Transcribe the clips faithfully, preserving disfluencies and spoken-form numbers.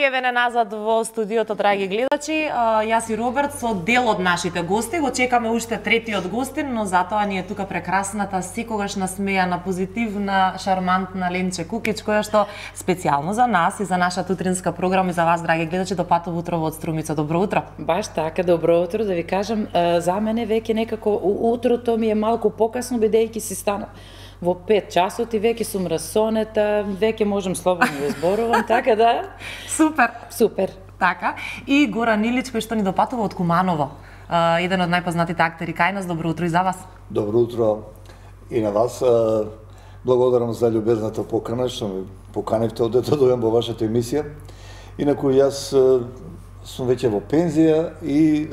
И еве назад во студиото, драги гледачи, јас и Роберт со дел од нашите гости. Го чекаме уште третиот гостин, но затоа ни е тука прекрасната, секогаш насмејана, позитивна, шармантна Ленче Кукич, која што специјално за нас и за нашата утринска програма и за вас, драги гледачи, допатува утрово од Струмица. Добро утро. Баш така, добро утро, да ви кажам, за мене веќе некако утрото ми е малку покасно, бидејќи си стана во пет часот и веќе сум расонета, веќе можам слободно да зборувам, така да... Супер! Супер! Така. И Горан Илич, кој што ни допатува од Куманово, еден од најпознатите актери кај нас. Добро утро и за вас. Добро утро и на вас. Благодарам за љубезната покана, што ме поканевте одете да дојдам во вашата емисија. Инаку јас сум веќе во пензија и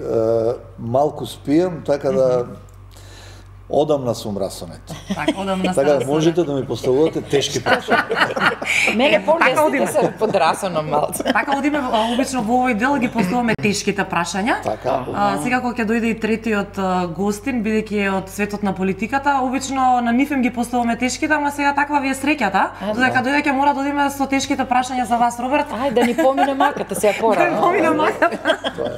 малку спијам, така да одамна сум расонет. Така, одамна така да можете да ми поставувате тешки прашања. Мене по-лесните се под расоном малце. Така одиме обично во овој дел ги поставуваме тешките прашања. Така. А, сега кога ќе дојде и третиот гостин, бидејќи е од светот на политиката, обично на нив им ги поставуваме тешките, ама сега таква ви е среќата, додека дојде ќе мора да одиме со тешките прашања за вас, Роберт. Ај да ни помине маката сега пора. Да помине маката.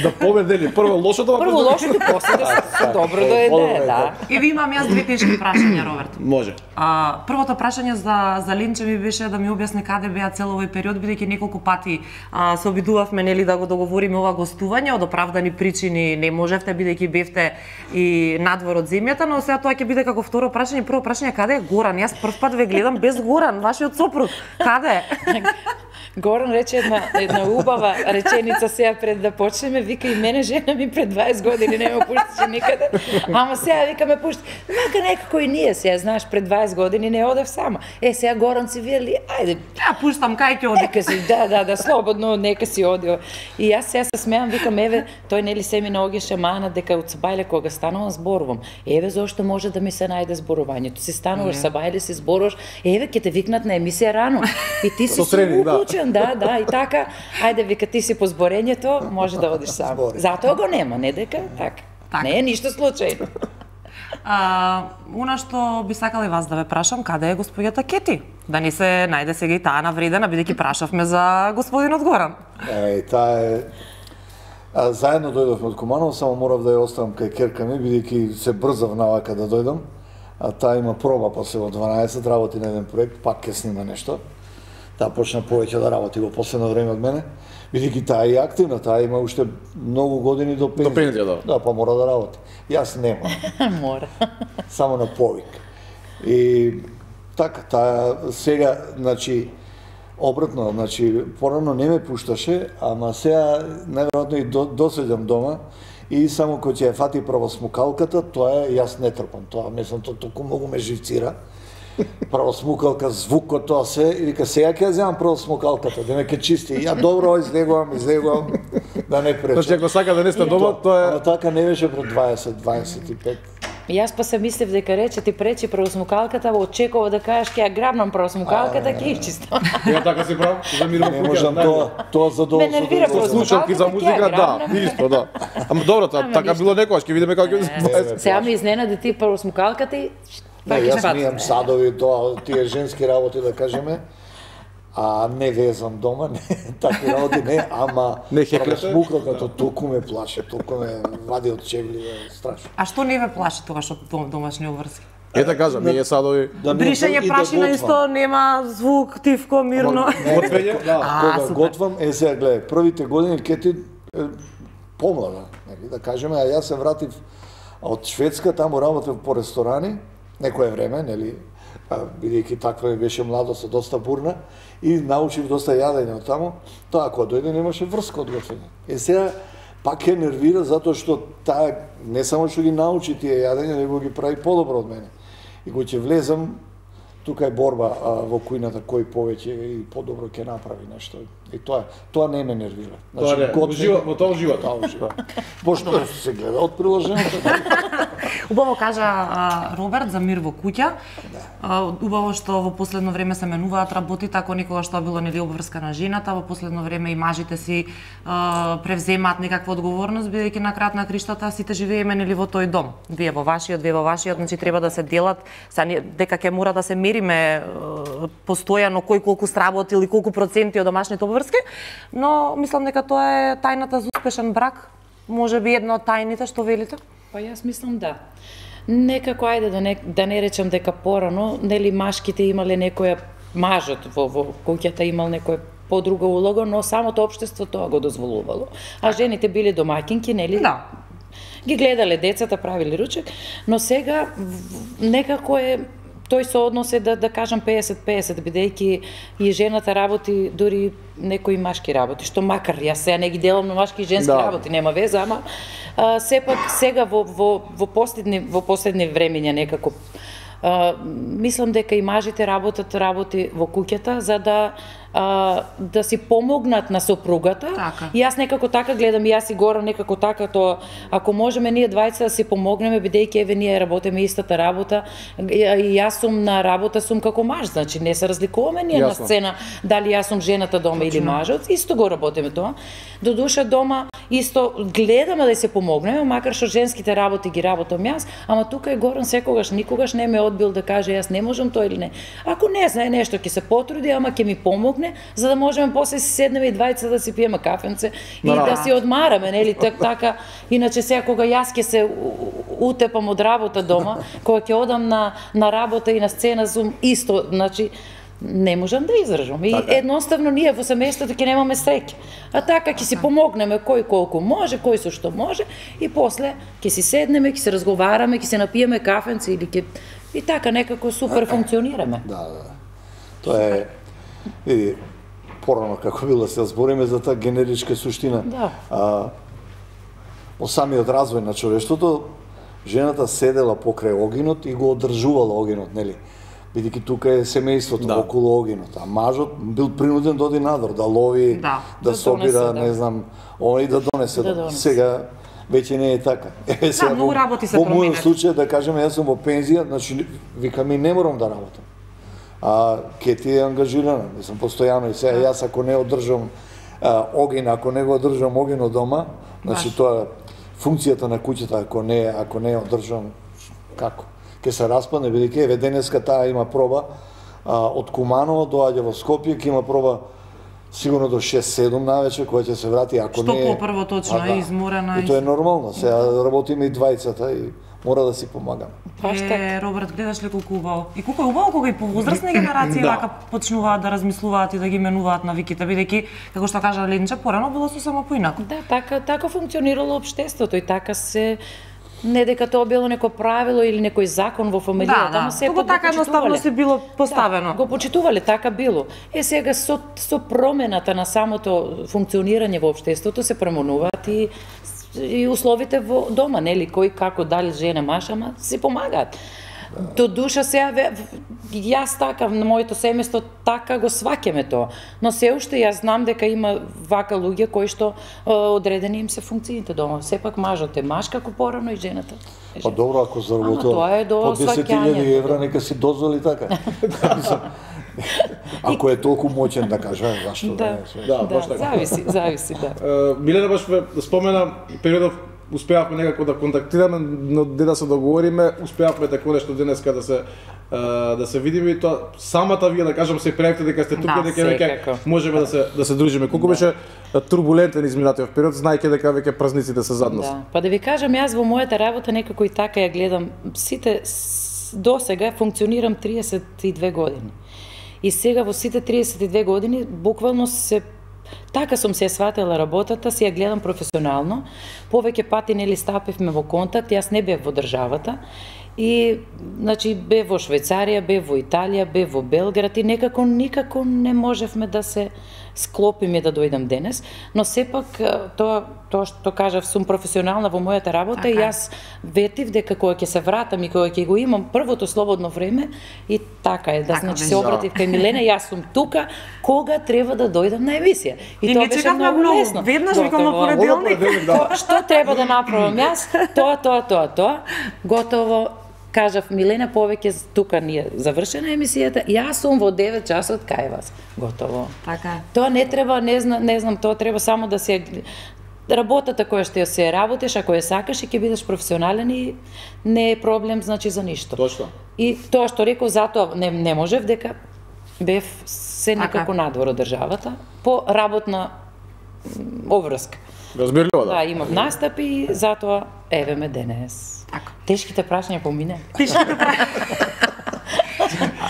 Да победели прво лошото, прво лошото, после да се добро дојде, да. И ви имам јас две тешки прашања, Роберт. Може. А, првото прашање за за Ленче ми беше да ми објасни каде беа цел овој период, бидејќи неколку пати а, се обидувавме нели да го договориме ова гостување, од оправдани причини не можевте бидејќи бевте и надвор од земјата, но сега тоа ќе биде како второ прашање. Прво прашање, каде е Горан? Јас прв пат ве гледам без Горан, вашиот сопруг. Каде е? Горан рече една, една убава реченица сега пред да почнеме, вика и мене жена ми пред дваесет години не ме пушташе никаде, ама сега вика ме пушти. Мака некако и ние сега, знаеш, пред дваесет години не одев сама. Е, сега Горан си вели, ајде. Ја пуштам, кај ќе оди? Нека си, да, да, да, слободно, нека си оди. И јас сега се смеам, викам, еве, тој нели се ми наогеше мана дека од Сабајле кога станувам зборувам. Еве зошто може да ми се најде зборувањето. Си стануваш Сабајле, си зборуваш, еве ќе те викнат на емисија рано. И ти си уклучен, да, да, и така. Ајде, вика, ти си по зборењето, може да одиш сам. Затоа го нема, не дека, така. Не е ништо случајно. А, она што би сакала и вас да ве прашам, каде е господјата Кети? Да ни се најде сега и таа навредена, бидејќи прашавме за господинот Горан. Е, таа е... А, заедно дојдовме од Куманово, само морав да ја оставам кај керка ми, бидејќи се брзав навака да дојдам. А таа има проба после во дванаесет, работи на еден проект, пак ќе снима нешто. Таа почна повеќе да работи во последно време од мене, бидејќи таа е активна, таа има уште многу години до пензија. До пензија, да. Да, па мора да работи. Јас нема. Мора. Само на повик. И така, таа сега, значи, обратно, значи, порано не ме пушташе, ама сега најверојатно и до, доседам дома и само кој ќе ја фати правосмукалката, тоа е, јас не трпам, тоа мислам, тоа толку многу ме живцира. Правосмукалка, звукот, тоа се, и вика, сега ќе ја земам правосмукалката, да ме ке чисти. Ја добро излегувам, излегувам, да не пречам. Значи, ако сака да не сте дома, тоа е... Ама така не беше пред дваесет дваесет и пет. Јас па се мислев дека рече ти пречи правосмукалката, очекува да кажеш ќе ја грабнам правосмукалката, ќе ја чистам. Ја така си прав, за мирно Не можам тоа, тоа задоволство. Ме нервира Со слушалки за музика, да, исто, да. Ама добро, така било некогаш, ќе видиме како ќе... Сега ми изненади ти правосмукалката и... Не, јас мијам садови, тоа, тие женски работи, да кажеме, а не везам дома, не, такви работи не, ама правосмукалката толку ме плаше, толку ме вади од чевли, страшно. А што не ве плаши тогаш од домашни обврски? Ете кажа, ми е садови... Бришење прашина исто, нема звук, тивко, мирно. Готвење? Кога готвам, е сега гледај, првите години Кети помлада, да кажеме, а јас се вратив од Шведска, таму работев по ресторани, некое време, нели, бидејќи таква ми беше младост доста бурна, и научив доста јадење од таму, тоа кога дојде немаше врска од готвење. Е сега пак ја нервира затоа што таа не само што ги научи тие јадења, него ги прави подобро од мене. И кога ќе влезам, тука е борба а, во кујната кој повеќе и подобро ќе направи нешто. И тоа тоа не ме нервира. Значи, тоа не, готвење, во тоа ужива, тоа ужива. Пошто се гледа од приложението. Убаво кажа а, Роберт за мир во куќа. убаво што во последно време се менуваат работите, ако никогаш тоа било нели обврска на жената, во последно време и мажите си а, превземаат некаква одговорност, бидејќи на крајот на криштата сите живееме нели во тој дом. Вие во вашиот, вие во вашиот, значи треба да се делат, са дека ќе мора да се мериме постојано кој колку сработил или колку проценти од домашните обврски, но мислам дека тоа е тајната за успешен брак, можеби една од тајните, што велите? Па јас мислам да. Некако, ајде да не, да не речам дека порано, нели машките имале некоја, мажот во, во куќата имал некоја подруга улога, но самото општество тоа го дозволувало. А жените биле домаќинки, нели? Да. Ги гледале децата, правиле ручек, но сега некако е тој сооднос е да да кажам песет песет, бидејќи и жената работи, дури некои машки работи, што макар јас сега не ги делам на машки и женски да. работи, нема веза, ама а, сепак сега во во во последни во последни времиња некако а, мислам дека и мажите работат работи во куќата за да а, да си помогнат на сопругата. Така. И јас некако така гледам, и јас и Гора некако така тоа, ако можеме ние двајца да си помогнеме, бидејќи еве ние работиме истата работа, и јас сум на работа сум како маж, значи не се разликуваме ние Јасно. на сцена дали јас сум жената дома или мажот, исто го работиме тоа. До душа дома исто гледаме да се помогнеме, макар што женските работи ги работам јас, ама тука е Горан секогаш никогаш не ме одбил да каже јас не можам тоа или не. Ако не знае нешто ќе се потруди, ама ќе ми помогне, за да можеме после си седнеме и двајца да си пиеме кафенце и да, да си одмараме, нели, так така. Иначе сега кога јас ќе се утепам од работа дома, кога ќе одам на на работа и на сцена сум исто, значи не можам да издржам. И така. Едноставно ние во семејството ќе немаме среќа. А така ќе си помогнеме кој колку може, кој со што може и после ќе си седнеме, ќе се разговараме, ќе се напиеме кафенце или ќе и така некако супер функционираме. Да, да. Тоа е види порано како било се збориме за таа генеричка суштина. Да. А, во самиот развој на човештвото жената седела покрај огинот и го одржувала огинот, нели? Бидејќи тука е семејството да. околу огинот, а мажот бил принуден да оди надвор, да лови, да, да, да собира, донесе, не знам, оној да донесе. Да донесе. Сега веќе не е така. Е, сега, да, многу работи се променат. Во мојот случај, да кажеме, јас сум во пензија, значи, викам и не морам да работам. А Кети е ангажирана, мислам, постојано и сега, јас ако не одржам а, огин, ако не го одржам огинот дома, значи Баш. тоа функцијата на куќата, ако не, ако не одржам, како? Ке се распадне, бидејќи еве денеска таа има проба а, од Куманово доаѓа во Скопје, ќе има проба сигурно до шест седум навечер која ќе се врати, ако Што не Што попрво точно е да. изморена. И тоа е нормално, сега работиме и двајцата и мора да си помагаме. Е, Роберт, гледаш ли колку убаво? И колку е убаво кога и повозрастни генерации да. вака почнуваат да размислуваат и да ги менуваат навиките, бидејќи како што кажа Ленче, порано било сосема поинаку. Да, така така функционирало општеството и така се не дека тоа било неко правило или некој закон во фамилијата, да, да. но се Тоа така едноставно се било поставено. Да, го почитувале, така било. Е сега со со промената на самото функционирање во општеството се променуваат и и условите во дома, нели, кој како дали жена маж, ама си помагаат. До душа сега јас така на моето семејство така го сваќаме тоа, но се уште јас знам дека има вака луѓе кои што одредени им се функциите дома. Сепак мажот е маж како порано и жената. Па добро, ако заработува по десет илјади евра, нека си дозволи така. Ако е толку моќен да кажа, зашто да не? Да, да, да зависи, зависи, да. Uh, Милена баш спомена периодов успеавме некако да контактираме, но де да се договориме, успеавме тако нешто денеска да се uh, да се видиме и тоа самата вие да кажам се пријавите дека сте тука, да, дека веќе можеме да се да се дружиме. Колку да. беше турбулентен изминатиот период, знаејќи дека веќе празниците се зад нас. Да. Па да ви кажам, јас во мојата работа некако и така ја гледам сите досега функционирам триесет и две години. И сега во сите триесет и две години буквално се така сум се сватила работата, си ја гледам професионално. Повеќе пати нели стапивме во контакт, јас не бев во државата. И значи бев во Швајцарија, бев во Италија, бев во Белград и некако никако не можевме да се склопиме да дојдам денес, но сепак тоа тоа што кажав сум професионална во мојата работа така. И јас ветив дека кога ќе се вратам и кога ќе го имам првото слободно време и така е, да така значи се обратив кај Милена, јас сум тука кога треба да дојдам на емисија. И, и тоа беше многу лесно. Веднаш викам на понеделник. Да. Што треба да направам јас? Тоа, тоа, тоа, тоа. Готово. кажав, Милена, повеќе тука ни е завршена емисијата, јас сум во девет часот кај вас. Готово. Така. Тоа не треба, не знам, не знам, тоа треба само да се работата која што ја се работиш, ако ја сакаш и ќе бидеш професионален и не е проблем, значи, за ништо. Точно. И тоа што реков, затоа не, не можев дека бев се некако Така. надвор од државата, по работна обврска. Разбирливо, да. Да, имав настапи и затоа еве ме денес. Така. Тешките прашања помине.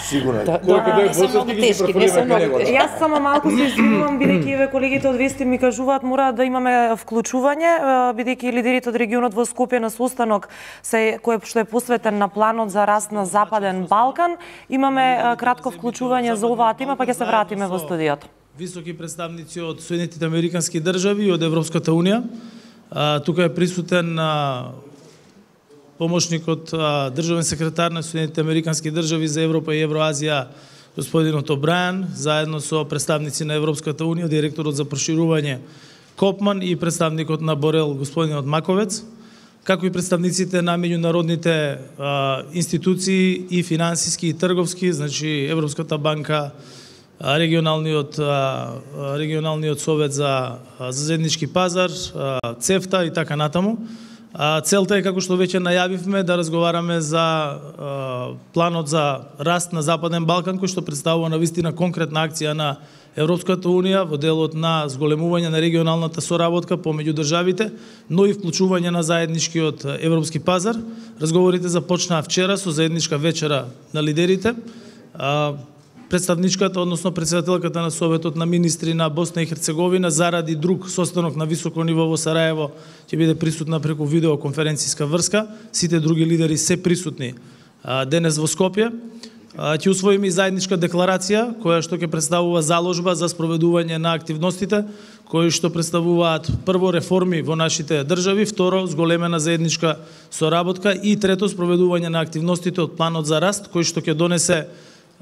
Сигурно е. Да, Кој ќе не се многу ти ги тешки, не се префрлиме многу него, да. тешки. Јас само малку се извинувам, бидејќи еве колегите од Вести ми кажуваат мора да имаме вклучување, е, бидејќи лидерите од регионот во Скопје на состанок се кој што е посветен на планот за раст на Западен Балкан, имаме е, кратко вклучување за оваа тема, па ќе се вратиме во студиото. Високи представници од Соединетите Американски држави и од Европската унија. А, тука е присутен а, помошникот а, државен секретар на Соединетите Американски држави за Европа и Евроазија, господинот Обрајан, заедно со представници на Европската унија, директорот за проширување Копман и представникот на Борел, господинот Маковец, како и представниците на меѓународните а, институции и финансиски и трговски, значи Европската банка, регионалниот регионалниот совет за за заеднички пазар, ЦЕФТА и така натаму. Целта е, како што веќе најавивме, да разговараме за планот за раст на Западен Балкан, кој што представува навистина конкретна акција на Европската унија во делот на зголемување на регионалната соработка помеѓу државите, но и вклучување на заедничкиот европски пазар. Разговорите започнаа вчера со заедничка вечера на лидерите. Представничката, односно председателката на Советот на министри на Босна и Херцеговина, заради друг состанок на високо ниво во Сараево, ќе биде присутна преку видеоконференцијска врска. Сите други лидери се присутни а, денес во Скопје. А, ќе усвоиме и заедничка декларација, која што ќе представува заложба за спроведување на активностите, кои што представуваат прво реформи во нашите држави, второ зголемена заедничка соработка и трето спроведување на активностите од планот за раст, кој што ќе донесе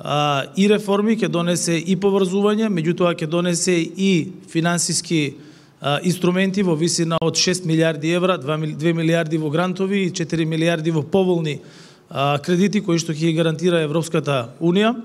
А, и реформи, ќе донесе и поврзување, меѓутоа ќе донесе и финансиски а, инструменти во висина од шест милиарди евра, две милиарди во грантови и четири милиарди во поволни а, кредити кои што ќе ги гарантира Европската унија.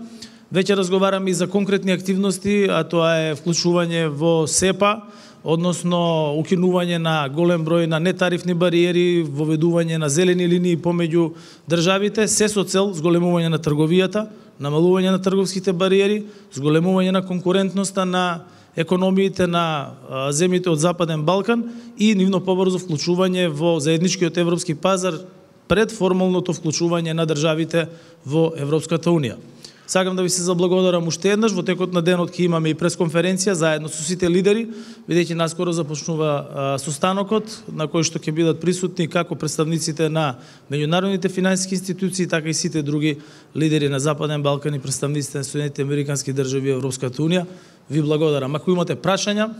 Веќе разговараме и за конкретни активности, а тоа е вклучување во СЕПА, односно укинување на голем број на нетарифни бариери, воведување на зелени линии помеѓу државите, се со цел зголемување на трговијата, намалување на трговските бариери, зголемување на конкурентноста на економиите на а, земјите од Западен Балкан и нивно побрзо вклучување во заедничкиот европски пазар пред формалното вклучување на државите во Европската унија. Сакам да ви се заблагодарам уште еднаш, во текот на денот ќе имаме и пресконференција заедно со сите лидери, бидејќи наскоро започнува а, состанокот на кој што ќе бидат присутни како представниците на меѓународните финансиски институции, така и сите други лидери на Западен Балкан и представниците на Соединетите Американски држави и Европската унија. Ви благодарам. Ако имате прашања,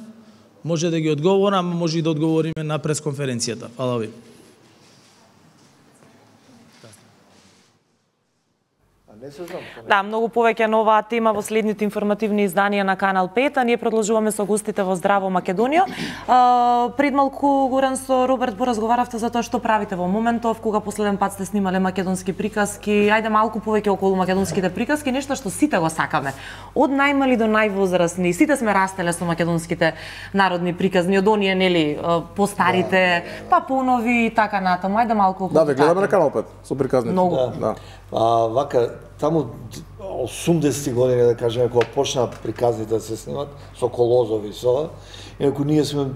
може да ги одговорам, може и да одговориме на пресконференцијата. Фала ви. Да, многу повеќе на оваа тема во следните информативни изданија на Канал пет, а ние продолжуваме со гостите во Здраво Македонија. А, пред малку, Горан, со Роберт поразговаравте за тоа што правите во моментов, кога последен пат сте снимале македонски приказки. Ајде малку повеќе околу македонските приказки, нешто што сите го сакаме. Од најмали до највозрастни, сите сме растеле со македонските народни приказни, од оние, нели, постарите, па понови и така натаму. Ајде малку околу. Да, ве гледаме на Канал пет со приказните. Многу. Да. А, вака, таму осумдесети години, да кажеме, кога почна приказните да се снимат, со Колозови, со, инаку ние сме,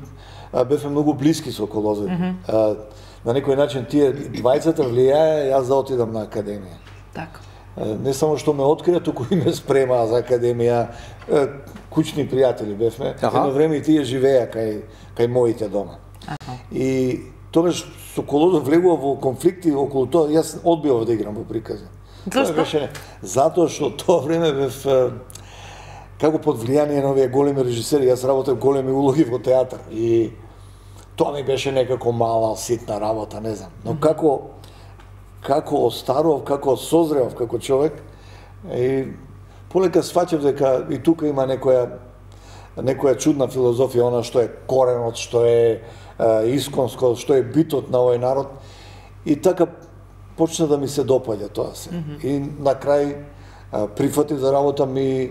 а, бевме многу блиски со Колозови. Mm -hmm. а, на некој начин тие двајцата влијае јас да отидам на академија. Така. А, не само што ме открија, туку и ме спремаа за академија. А, кучни пријатели бевме. Аха. Едно време и тие живеа кај, кај моите дома. Аха. И тогаш со Колозов влегува во конфликти околу тоа, јас одбивав да играм во прикази. Зашто? Беше, затоа што тоа време бев како под влијание на овие големи режисери, јас работев големи улоги во театар и тоа ми беше некако мала, ситна работа, не знам. Но како како остаров, како созрев како човек и полека сваќав дека и тука има некоја некоја чудна филозофија, она што е коренот, што е исконско, што е битот на овој народ. И така почна да ми се допаѓа тоа се. Mm -hmm. И на крај а, прифатив да работам и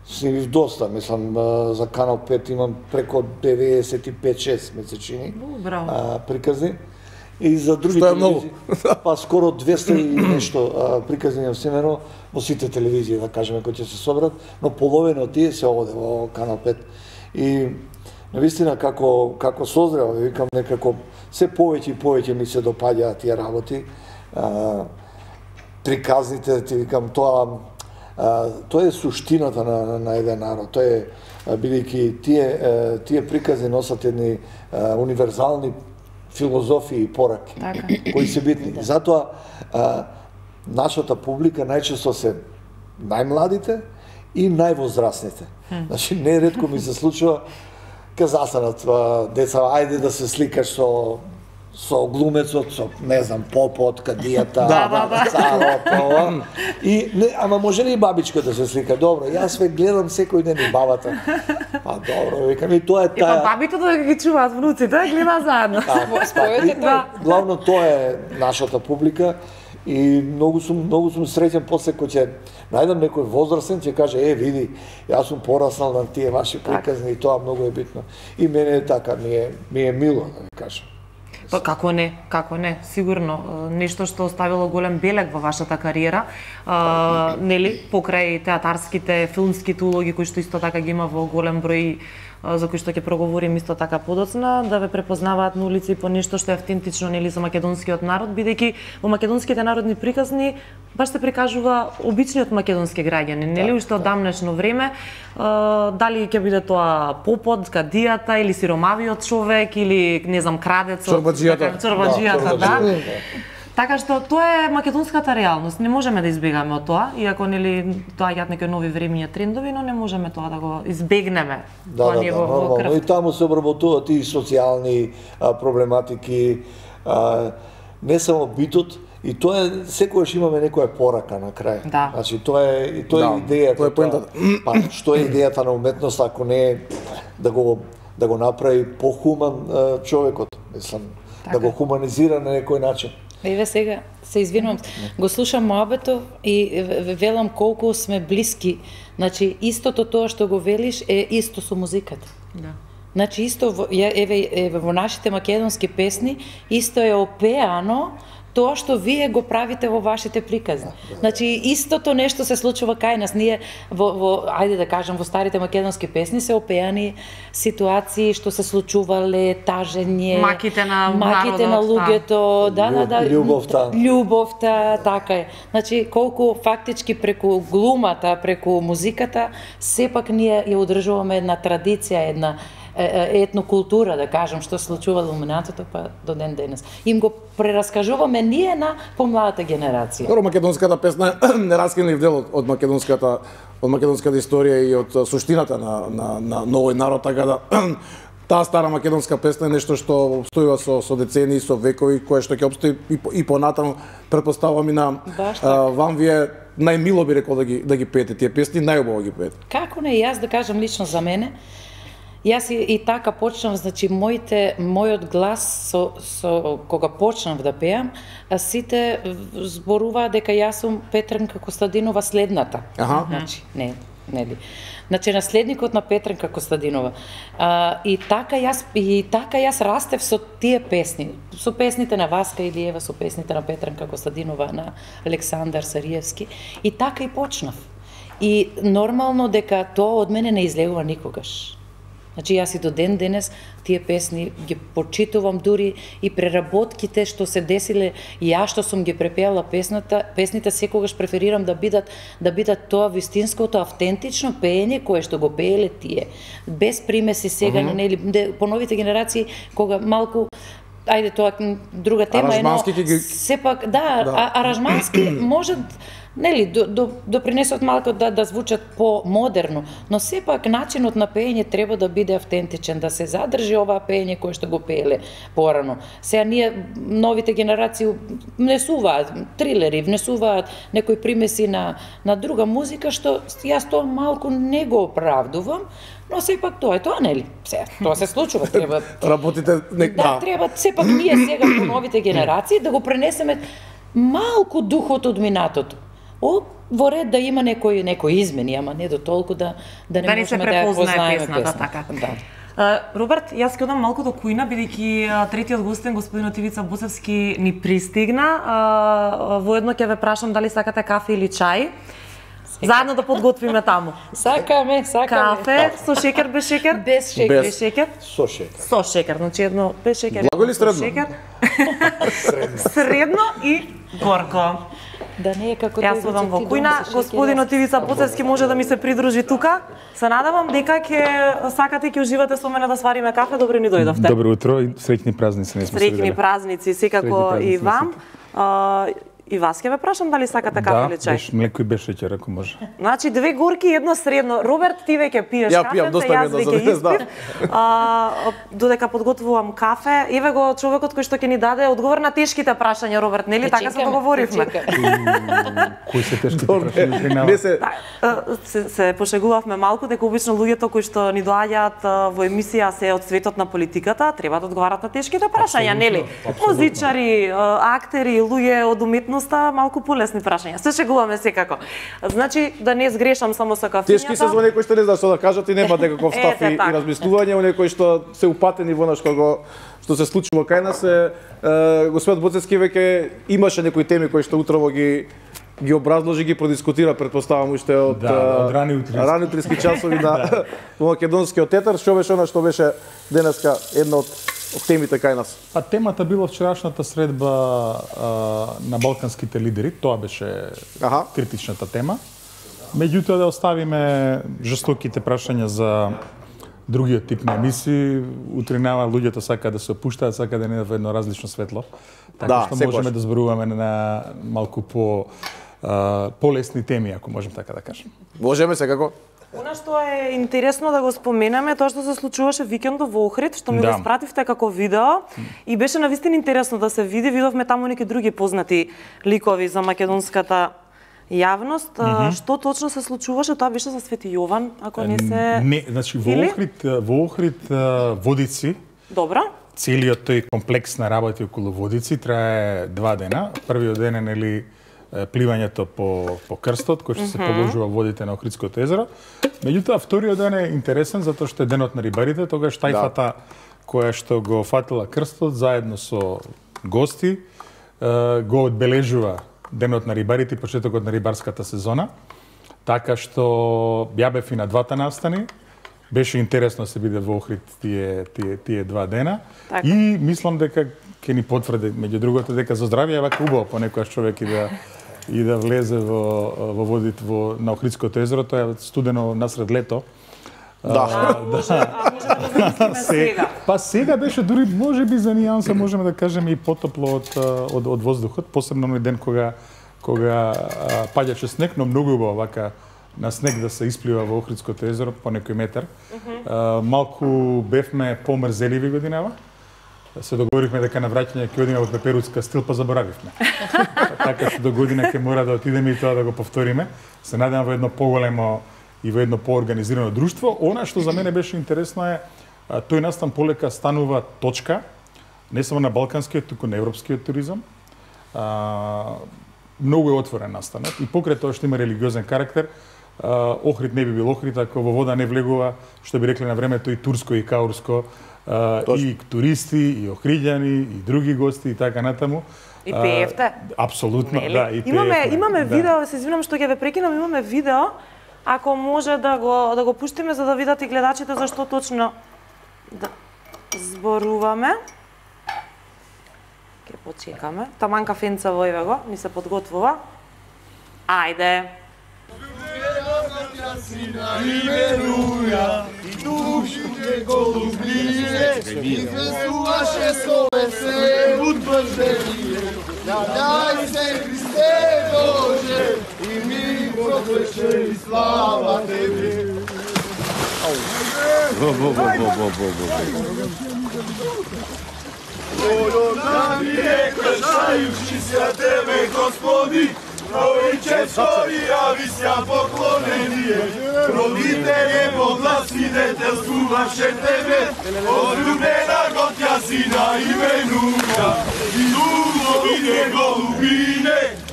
снимив доста, мислам, а, за Канал пет имам преко деветдесет и пет шест месечини а, приказни. И за други Што е телевизии, па скоро двесте и нешто а, приказни на семено во сите телевизии, да кажеме, кои ќе се собрат, но половина од тие се оде во Канал пет. И навистина како како созрел, викам некако се повеќе и повеќе ми се допаѓаат тие работи. А, приказните, ти викам, тоа а, тоа е суштината на, на, на еден народ. Тоа е бидејќи тие тие приказни носат едни а, универзални филозофии и пораки, така, кои се битни. Да. Затоа а, нашата публика најчесто се најмладите и највозрастните. Значи, неретко ми се случува ка застанат деца, ајде да се сликаш со со глумецот, со, не знам, попот, кадијата, да, да, да. царот, и не, ама може ли и бабичка да се слика? Добро, јас ве гледам секој ден и бабата. Па добро, викам, и тоа е таа... И па бабите да ги чуваат внуците, гледаат заедно. Спојете тоа. Главно тоа е нашата публика и многу сум многу сум среќен после кој ќе најдам некој возрастен ќе каже е види јас сум пораснал на тие ваши приказни и тоа многу е битно. И мене е така ми е ми е мило да ви кажам. Па како не, како не, сигурно нешто што оставило голем белег во вашата кариера, а, нели, покрај театарските, филмските улоги кои што исто така ги има во голем број, за кои што ќе проговорим исто така подоцна, да ве препознаваат на улици по нешто што е автентично, нели, за македонскиот народ, бидејќи во македонските народни приказни баш се прикажува обичниот македонски граѓанин, нели, уште од дамнешно време, а, дали ќе биде тоа попот, кадијата или сиромавиот човек или не знам крадецот, чорбаџијата, чорбаџијата, да. Така што тоа е македонската реалност. Не можеме да избегаме од тоа, иако нели доаѓаат некои нови времиња трендови, но не можеме тоа да го избегнеме. Да, да, да, нормално. И таму се обработуваат и социјални а, проблематики, а, не само битот, и тоа е секогаш имаме некоја порака на крај. Да. Значи тоа е и тоа да, е идејата. Тоа е поентата. Па што е идејата на уметноста ако не е да го да го направи похуман а, човекот, мислам, така, да го хуманизира на некој начин. Еве сега, се извинувам, го слушам Моабетов и велам колку сме блиски. Значи, истото тоа што го велиш е исто со музиката. Да. Значи, исто, во, еве, еве, во нашите македонски песни, исто е опеано тоа што вие го правите во вашите приказни. Значи, истото нешто се случува кај нас. Ние, во, во, ајде да кажам, во старите македонски песни се опеани ситуации што се случувале, тажење, маките на маките народот, на луѓето, да, да, да, љубовта. Љубовта, така е. Значи, колку фактички преку глумата, преку музиката, сепак ние ја одржуваме една традиција, една етнокултура, да кажам, што се случувало во минатото, па до ден денес. Им го прераскажуваме ние на помладата генерација. Добро, македонската песна е нераскинлив дел од, од македонската од македонската историја и од суштината на на на новој народ, така да таа стара македонска песна е нешто што обстојува со со децении, со векови, кое што ќе обстои и, и понатаму, претпоставувам и на а, вам вие најмило би рекол да ги да ги пеете тие песни, најубаво ги пеете. Како не, јас да кажам лично за мене, јас и, и така почнав, значи моите мојот глас со со кога почнав да пеам, а сите зборуваат дека јас сум Петренка Костадинова следната. Аха. Значи, не, нели. Значи наследникот на Петренка Костадинова. А, и така јас и така јас растев со тие песни, со песните на Васка Илиева, со песните на Петренка Костадинова, на Александар Сариевски, и така и почнав. И нормално дека тоа од мене не излегува никогаш. Значи, јас и до ден денес тие песни ги почитувам, дури и преработките што се десиле, јас што сум ги препеала песната, песните секогаш преферирам да бидат да бидат тоа вистинското автентично пеење кое што го пееле тие, без примеси сега, uh -huh. нели, по новите генерации кога малку ајде тоа друга тема е, но ги... сепак да, да. А, аранжмански можат нели до, до, допринесот малку да да звучат по-модерно, но сепак начинот на пеење треба да биде автентичен, да се задржи оваа пеење кое што го пееле порано. Сега ние новите генерации внесуваат трилери, внесуваат некои примеси на на друга музика што јас тоа малку не го оправдувам, но сепак тоа е тоа, нели? Сега тоа се случува, треба работите не... да, треба сепак ние сега по новите генерации да го пренесеме малку духот од минатото. О, во ред да има некои некои измени, ама не до толку да да не да не се можеме да ја препознае познаеме песната, песната. така. Да. Uh, Роберт, јас ќе одам малку до кујна, бидејќи uh, третиот гостин, господинот Ивица Боцевски, ни пристигна. Uh, воедно ќе ве прашам дали сакате кафе или чај. Заедно да подготвиме таму. Сакаме, сакаме. Кафе со шекер, без шекер? Без шекер. Без шекер? Со шекер. Со шекер, значи едно без шекер. Благо или средно? Шекер. Средно. Средно и горко. Да не е како Јас одам во кујна, господинот Ивица Боцевски може да ми се придружи тука. Се надевам дека ќе сакате и ќе уживате со мене да свариме кафе. Добро ни дојдовте. Добро утро и среќни празници, не сме се виделе. Среќни празници, секако и вам. А, и вас ќе ве прашам дали сакате кафе или Да, чај. без млеко и без шеќер, ако може. Значи две горки и едно средно. Роберт, ти веќе пиеш Ја кафе, пијам, доста ми јас едно веќе за денес, да. испив. А, додека подготвувам кафе, еве го човекот кој што ќе ни даде одговор на тешките прашања, Роберт, нели така се договоривме? Кои се тешките прашања принава? Не се Да, се, се пошегувавме малку дека обично луѓето кои што ни доаѓаат во емисија се од светот на политиката, треба да одговарат на тешките прашања, нели? Музичари, актери, луѓе од уметноста, малку полесни прашања. Се шегуваме секако. Значи да не сгрешам само со кафењата. тешки се за некои што не знаат што да кажат и немаат некаков став Ете, и, и така. размислување, у некои што се упатени во нешто го што се случува кај нас е, е господинот Боцевски веќе имаше некои теми кои што утрово ги ги образложи, ги продискутира, предпоставам уште од Да, а, од рани утрески. рани утрески часови на во македонскиот тетар, што беше она што беше денеска една од од темите кај нас. А темата била вчерашната средба а, на балканските лидери, тоа беше Аха. критичната тема. Меѓутоа да оставиме жестоките прашања за другиот тип на емисии. Утринава луѓето сакаат да се опуштаат, сакаат да не во едно различно светло. Така Да, што секогаш. можеме да зборуваме на малку по а, полесни теми, ако можем така да кажем. Можеме секако. Она што е интересно да го споменеме, тоа што се случуваше викендов во Охрид, што ми Да. го испративте како видео и беше навистина интересно да се види. Видовме таму неки други познати ликови за македонската јавност. Mm -hmm. Што точно се случуваше? Тоа беше за Свети Јован, ако не се... Не, значи во Или? Охрид, во Охрид а, Водици, Добро. целиот тој комплекс на работи околу Водици трае два дена. Првиот ден е нели пливањето по по крстот кој што се положува водите на Охридското езеро. Меѓутоа вториот ден е интересен затоа што е денот на рибарите, тогаш тајфата која што го фатила крстот заедно со гости е, го одбележува денот на рибарите и почетокот на рибарската сезона. Така што ја бев и на двата настани. Беше интересно да се биде во Охрид тие тие тие два дена. Така. И мислам дека ќе ни потврди меѓу другото дека за здравје е вака убаво понекогаш човек и да и да влезе во во водите во на Охридското езеро, тоа е студено насред лето. Да. А може да замислиме сега. Па сега беше дури можеби за нијанса можеме да кажеме и потопло од од од воздухот, посебно на ден кога кога а, паѓаше снег, но многу убаво вака на снег да се исплива во Охридското езеро по некој метар. Uh -huh. а, малку бевме помрзеливи годинава. Се договоривме дека на враќање ќе одиме во Пеперудска стил, па заборавивме. Така што до година ќе мора да отидеме и тоа да го повториме. Се надевам во едно поголемо и во едно поорганизирано друштво. Она што за мене беше интересно е а, тој настан полека станува точка не само на балканскиот, туку на европскиот туризам. А, многу е отворен настанот и покрај тоа што има религиозен карактер, а, Охрид не би бил Охрид ако во вода не влегува, што би рекле на времето и турско и каурско, а, и туристи, и охриѓани, и други гости и така натаму. И пеевте. А, апсолутно, Нели? да, и Имаме пеевме, имаме да. видео, се извинам што ќе ве прекинам, имаме видео. Ако може да го да го пуштиме за да видат и гледачите за што точно да зборуваме. Ке почекаме. Таман кафенца во еве го, ни се подготвува. Ајде. Daj se Hriste Bože i mi prokleše i slava Tebi. Volio nam je kršajući se Tebe, Gospodi, Trojičestovi javisja poklonenije, roditelje poglasiditeljstvu vaše Tebe, odljubljena gotja sina imenuka, i duhovine golubine,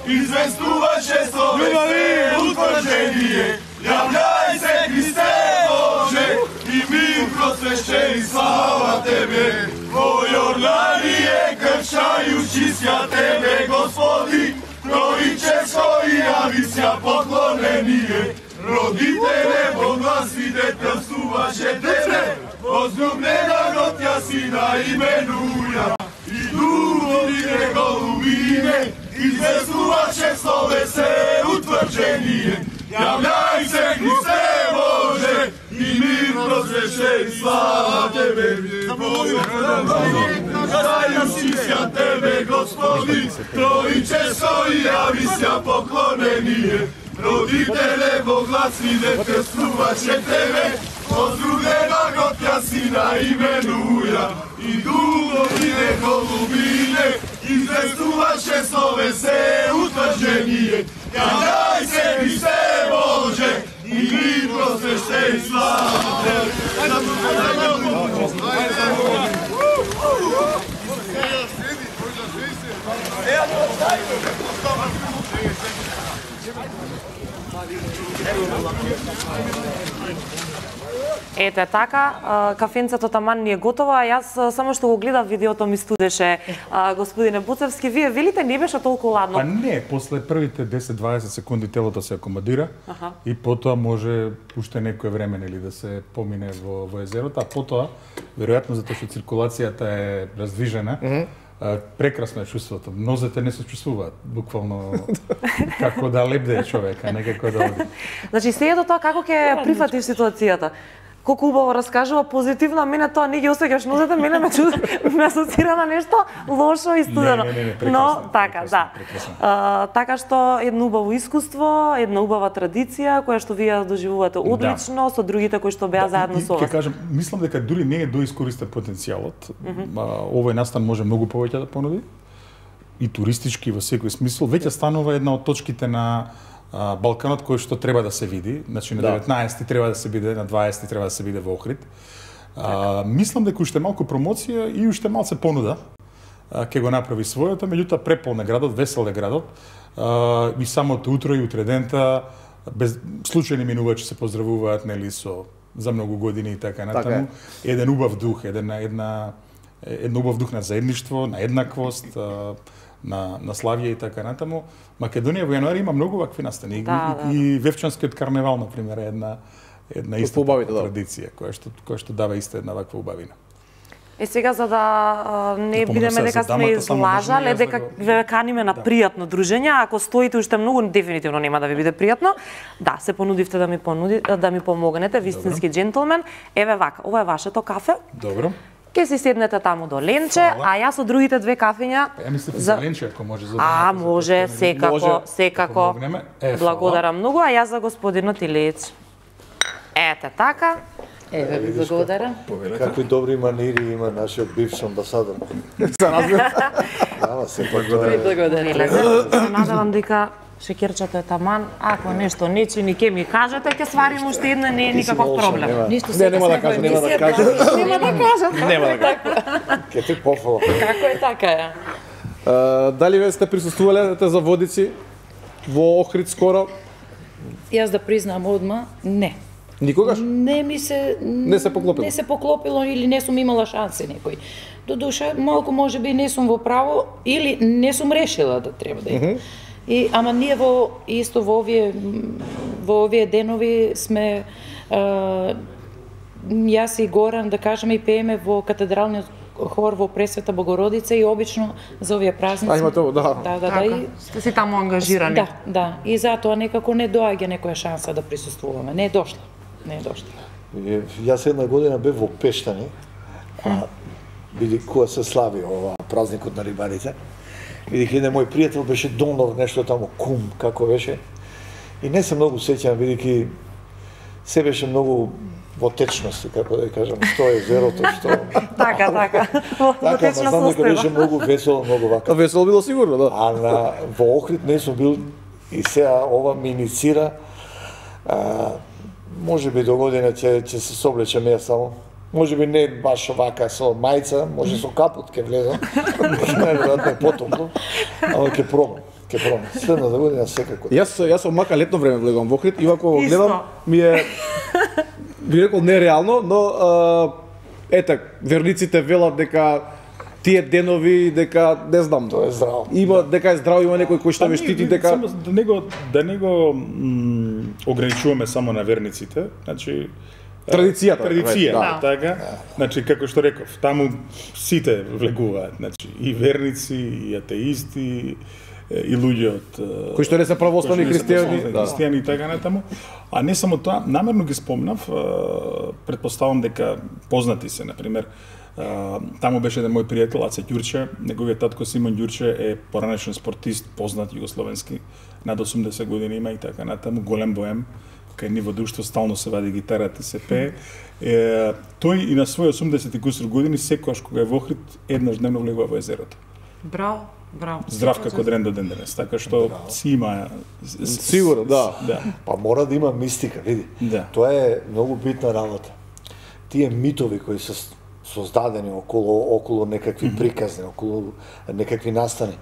известуваше словесе утврđenije. Javljaj se Hrisте Bože i mir prosvešćeni, slava Tebe. O Jordanije kršajući sja Tebe, Gospodi, Trojičesko i javisja poklonenije. Roditele Boglasvi detelstuvaše Tebe, возлюблена Готja Sina imenuja. I duhovine golubine, izvestuvaše slovese utvrđenije. Javljaj se Hrisте Bože i mir prosvešćeni, slava Tebe. Kršajući sja Tebe, Gospodi, Trojičesko i javisja poklonenije. Roditele Boglasvi detelstuvaše Tebe, возлюблена Готja Sina imenuja. I duhovine golubine, izvestuvaše slovese utvrđenije. Javljaj se Hrisте Bože i mir prosvešćeni, slava Tebe. Ете така, кафенцето таман ни е готово, а јас само што го гледав видеото ми студеше, господине Буцевски. Вие велите не беше толку ладно? Па не, после првите десет-дваесет секунди телото се акомодира Аха. и потоа може уште некое време нели да се помине во, во езерото, а потоа веројатно затоа што циркулацијата е раздвижена, mm -hmm. прекрасно е чувството. Нозете не се чувствуваат, буквално како да лебде човек, а не како да оди. Значи, сејато тоа како ќе прифатиш ситуацијата? Колку убаво раскажува позитивно, а мене тоа не ги осеќаш нозете, мене ме чуд, ме асоцира на нешто лошо и студено. Не, не, не, прекрасно, но така, прекрасно, да. прекрасно. А, така што едно убаво искуство, една убава традиција која што вие доживувате одлично да. со другите кои што беа да, заедно со вас. Ќе кажам, мислам дека дури не е доискористен потенцијалот. Mm -hmm. Овој настан може многу повеќе да понуди и туристички во секој смисол. Веќе станува една од точките на Балканот кој што треба да се види, значи на деветнаесети треба да се биде, на дваесети треба да се биде во Охрид. А, мислам дека уште малку промоција и уште малце понуда а, ќе го направи својата, меѓутоа преполн е градот, весел е градот. А, и самото утро и утредента без случајни минувачи се поздравуваат нели со за многу години и така натаму. Така еден убав дух, еден една еден убав дух на заедништво, на еднаквост, а, на на славје и така натаму. Македонија во јануари има многу вакви настани. Да, и, да. и Вевчанскиот карневал на пример е една една иста традиција која што која што дава иста една ваква убавина. Е сега за да а, не да бидеме дека сме излажале, дека ве каниме на да. пријатно дружење, ако стоите уште многу дефинитивно нема да ви биде пријатно. Да, се понудивте да ми понуди да ми помогнете, вистински џентлмен. Еве вака, ова е вашето кафе. Добро. Ке си седнете таму до Ленче, а јас со другите две кафења... Ја мислев за Ленче, ако може за... А, може, секако, може, секако. Е, благодарам многу, а јас за господинот Илијич. Ете така. Еве, ви благодарам. Какви добри манири има нашиот бивш амбасадор. За нас Ама се тоа. Ви благодарам. Се надевам дека шекерчето е таман, ако нешто не чини ке ми кажете, ќе сварим уште една, не е никаков проблем. Ништо Не, нема да кажам, нема да кажам. Нема да кажат. Нема да кажам. Ке те пофала. Како е така е? А, дали ве сте присуствувале за водици во Охрид скоро? Јас да признам одма, не. Никогаш? Не ми се Не се поклопило. Не се поклопило или не сум имала шанси некој. Додуша малку можеби не сум во право или не сум решила да треба да идам. Mm -hmm. И ама ние во исто во овие во овие денови сме а, јас и Горан да кажеме и пееме во катедралниот хор во Пресвета Богородица и обично за овие празници. А има тоа, да. Да, да, да. И, Сте си таму ангажирани. да, да. И затоа некако не доаѓа некоја шанса да присуствуваме. Не е дошла. Не е дошла. Јас една година бев во Пештани, а биди кога се слави ова празникот на рибарите. Видих еден мој пријател беше донор нешто таму кум како беше. И не се многу сеќавам бидејќи се беше многу во течност, како да кажам, што е езерото, што... Така, така. Во течна состојба. Така, беше многу весело, многу вака. Весело било сигурно, да. А на во Охрид не сум бил и сега ова ми иницира. А, може би до година ќе ќе се соблечем јас само. Може би не баш вака со мајца, може со капут ќе влезам. Најверојатно е потопло, ама ќе пробам. Ке пробам. Следната година секако. Јас јас со мака летно време влегувам во Охрид и ако Исто. гледам ми е би рекол нереално, но а, ете верниците велат дека тие денови дека не знам. Тоа е здраво. Има дека е здраво, има некој кој што ве штити дека Само да не го да не го м, ограничуваме само на верниците, значи Традицијата, традиција, да. така. Значи како што реков, таму сите влегуваат, значи и верници, и атеисти, и луѓе од кои што не се православни христијани, да. христијани и така натаму. А не само тоа, намерно ги спомнав, претпоставам дека познати се, на пример, таму беше еден мој пријател Аце Ѓурче, неговиот татко Симон Ѓурче е поранешен спортист, познат југословенски, над осумдесет години има и така натаму, голем боем, кај ниво друштво стално се вади гитарата и се пее. Е, тој и на своји осумдесет и кусур години секогаш кога е во Охрид еднаш дневно влегува во езерото. Браво, браво. Здрав како дрен до ден денес, така што си има Сигурно, да. да. Па мора да има мистика, види. Да. Тоа е многу битна работа. Тие митови кои се создадени околу околу некакви приказни, околу некакви настани.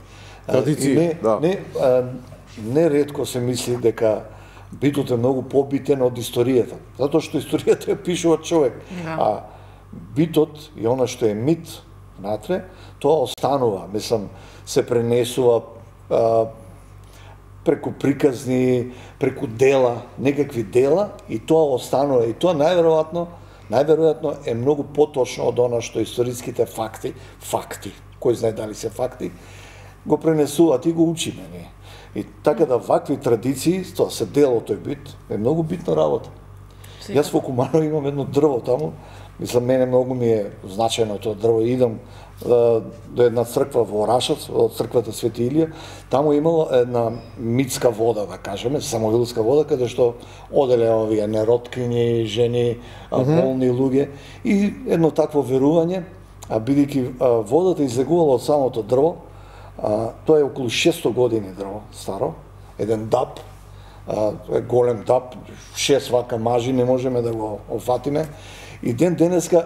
Традиции, не, да. Не, а, не ретко се мисли дека битот е многу побитен од историјата, затоа што историјата ја пишува човек. Да. А битот и она што е мит натре, тоа останува, мислам, се пренесува а, преку приказни, преку дела, некакви дела и тоа останува и тоа најверојатно, најверојатно е многу поточно од она што историските факти, факти, кој знае дали се факти, го пренесуваат и го учиме ние. И така да вакви традиции, тоа се дел од тој бит, е многу битна работа. Јас во Куманово имам едно дрво таму, мислам, мене многу ми е значајно тоа дрво. Идам до една црква во Орашац, од црквата Свети Илија, таму имало една митска вода, да кажеме, самовилска вода, каде што оделе овие нероткињи, жени, болни луѓе и едно такво верување, а бидејќи водата излегувала од самото дрво, а, тоа е околу шестстотини години дрво старо, еден даб, а, е голем даб, шест вака мажи, не можеме да го офатиме. И ден денеска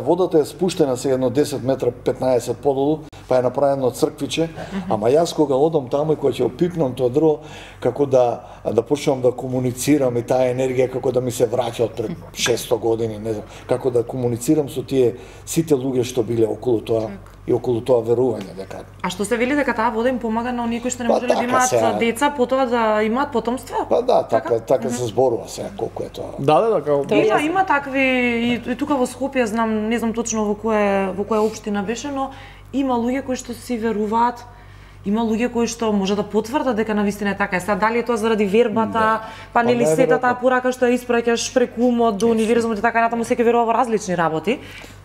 водата е спуштена се едно десет метра, петнаесет подолу, па е направено црквиче, ама јас кога одам таму и кога ќе опипнам тоа дрво, како да да почнам да комуницирам и таа енергија како да ми се враќа од пред шестстотини години, не знам, како да комуницирам со тие сите луѓе што биле околу тоа и околу тоа верување дека. А што се вели дека таа вода им помага на оние кои што не Па можеле да така имаат се, деца, потоа да имаат потомство? Па да, така така се зборува сега колку е тоа. Да, да, да, како Има, има такви и, и тука во Скопје знам, не знам точно во која во која општина беше, но има луѓе кои што си веруваат. Има луѓе кои што може да потврдат дека навистина е така. Е, сега дали е тоа заради вербата, да. па нели Па, сета таа порака што ја испраќаш преку умот до универзумот и така натаму, секој верува во различни работи.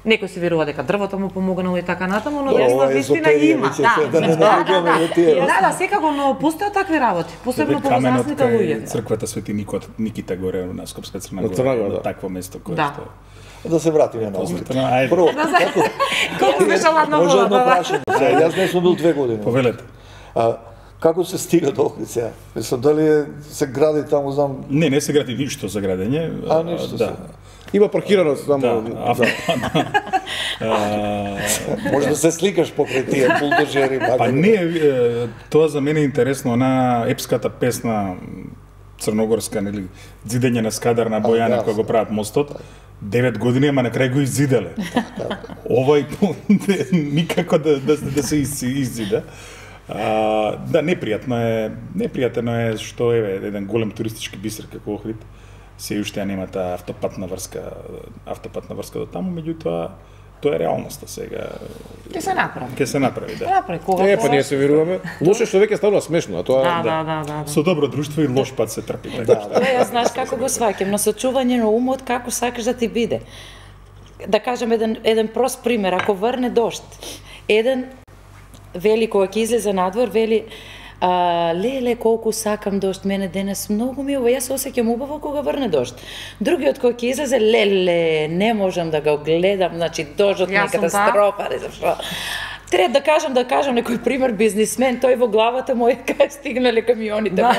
Некој си верува дека дрвото му помогнало и така натаму, но јас навистина има. Да, да не навлегуваме во тие. Да, да, секако, но постојат такви работи, посебно по возрастните луѓе. Црквата Свети Никот, Никита горе на Скопска Црна Од Црна Гора, Гора, да. такво место кое Да. што Да се вратиме на Охрид. Ајде. Прво, како колку беше ладно може едно вода. прашање. Сега, јас не сум бил две години. Повелете. А, како се стига до Охрид сега? Мислам, дали е, се гради таму, знам... Не, не се гради ништо за градење. А, ништо да. се. има паркирано само. Да, авто. Може да се сликаш покрај тие булдожери. Па не, е, тоа за мене е интересно, она епската песна црногорска, нели, зидење на Скадар на Бојана да, кога го прават мостот. девет години, ама на крај го иззиделе. Овај никако да, да, да се из, иззида. А, да, непријатно е, непријатно е што е еден голем туристички бисер како Охрид. Се уште ја нема таа автопатна врска, автопатна врска до таму, меѓутоа тоа е реалноста сега. Ќе се направи. Ќе се направи, да. Направи кога. Е, па ние се веруваме. Лошо што веќе станува смешно, а тоа Да, да, да, да. Со добро друштво и лош пат се трпи. Така. Да, Тоа ја знаеш како го сваќам, но сочување на умот како сакаш да ти биде. Да кажем еден еден прост пример, ако врне дожд, еден вели кога ќе излезе надвор, вели а, леле колку сакам дожд, мене денес многу ми е убаво, јас се осеќам убаво кога врне дожд. Другиот кога ќе излезе, леле, не можам да го гледам, значи дождот ми е Јас сум катастрофа, не знам што. Треба да кажам, да кажам некој пример бизнисмен, тој во главата му е кај стигнале камионите, Да.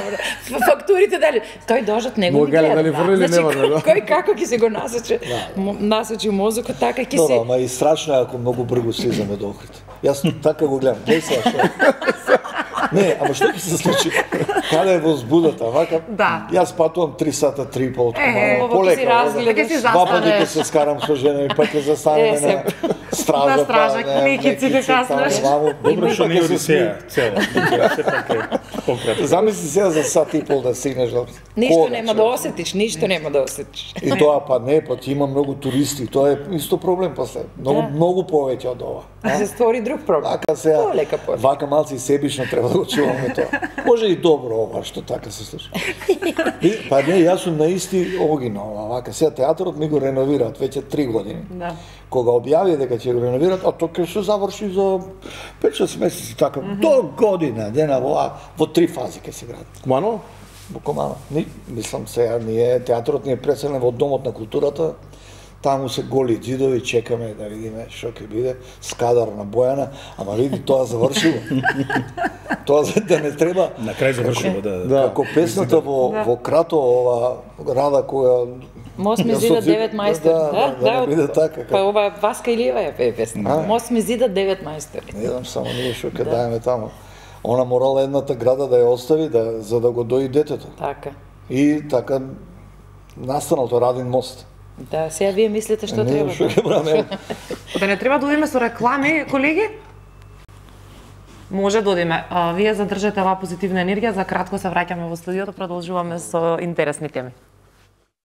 фактурите дали. Тој дождот него Му ми гледа, гледа. дали врли или Значи, не врли, да. кој како ќе се го насочи, насочи мозокот, така ќе Добро, се... ама и страшно е ако многу брзо слизаме до Охрид. Јас така го гледам. Гледај сега што. Не, ама што ќе се случи? Каде е возбудата? Вака, Да. јас патувам три сата, три и пол. Е, Ово ќе си разгледаш. Ќе си Два пати ќе застанеш. се скарам со жена и па ќе застанеме Е, се- на стража. На стража, па, не, кникиците некици, каснеш. таму, ваму. Добро што Па не ќе се Одисеја смие. цела, дека сепак е пократко. Замисли сега за сат и пол да стигнеш до Ништо Кога, нема човек? да осетиш, ништо нема да осетиш. И тоа па не, па ти има многу туристи, тоа е исто проблем после. Многу Да. многу повеќе од ова. А се створи друг проблем. Вака сега, Полека по. вака малци и себично треба да го чуваме тоа. Може и добро ова што така се случи. И, па не, јас сум на исти огинал, вака сега театрот ми го реновираат веќе три години. Да. Кога објави дека ќе го реновираат, а тоа ќе се заврши за пет-шест месеци така, до година, дена во во три фази ќе се гради. Кумано? Буквално. Ни, мислам сега, ние, театрот ни е преселен во Домот на културата, таму се голи џидови, чекаме да видиме што ќе биде, Скадар на Бојана, ама види, тоа завршило. Тоа за да не треба, На крај завршило, да. да, како песната во, во Крато, ова Рада која... Мост ми Јас зида од- девет мајстори. Да, да, да, не биде така. Па ова Васка Илиева е пе песна. А? Мост ми зида девет мајстори. Не знам само ние што ќе даеме таму. Она морала едната града да ја остави, да, за да го дои детето. Така. И така настанал тој Радин мост. Да, сега вие мислите што Не, треба. што ќе правиме? Да не треба да одиме со реклами, колеги? Може да одиме. А, вие задржате оваа позитивна енергија, за кратко се враќаме во студиото, продолжуваме со интересни теми.